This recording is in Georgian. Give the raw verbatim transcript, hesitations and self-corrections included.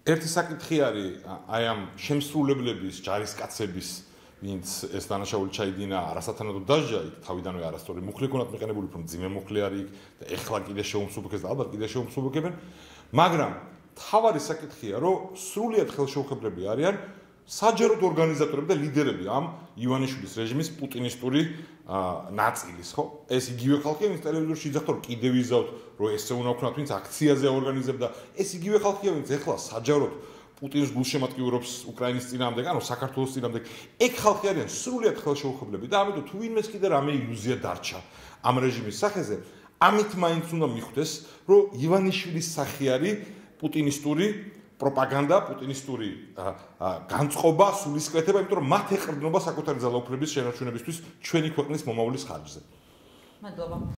ერთი საკითხი არის აი ამ შემსრულებლების, ჯარისკაცების, ვინც ეს დანაშაული ჩაიდინა არასათანადო დასჯა, იქ თავიდანვე არასწორი მუხლი ქონათ მიყენებული, უფრო მძიმე მუხლი არის იქ და ეხლა კიდე შეუმსუბუქეს და ალბათ კიდე შეუმსუბუქებენ, მაგრამ თავარი საკითხია, რომ სრულიად ხელშეუხებლები არიან საჯაროდ ორგანიზატორები და ლიდერები ამ ივანიშვილის რეჟიმის პუტინისტური ნაწილის, ხო? ეს იგივე ხალხია, ვინც ტელევიზორში იძახდა, რომ კიდე ვიზავთ, რომ ესე უნდა ვქნათ, ვინც აქციაზე აორგანიზებდა, ეს იგივე ხალხია, ვინც ეხლა საჯაროდ პუტინის გულშემატკივრობს უკრაინის წინააღმდეგ, ანუ საქართველოს წინააღმდეგ. ეგ ხალხი არიან სრულიად ხელშეუხებლები და ამიტომ თუ ვინმეს კიდე რამე ილუზია დარჩა ამ რეჟიმის სახეზე, ამით მაინც უნდა მიხვდეს, რომ ივანიშვილის სახე არის პუტინისტური პროპაგანდა, პუტინისტური განწყობა, სულისკვეთება, იმიტომ რომ მათ ეყრდნობა საკუთარი ძალაუფლების შენარჩუნებისთვის ჩვენი ქვეყნის მომავლის ხარჯზე. მადლობა.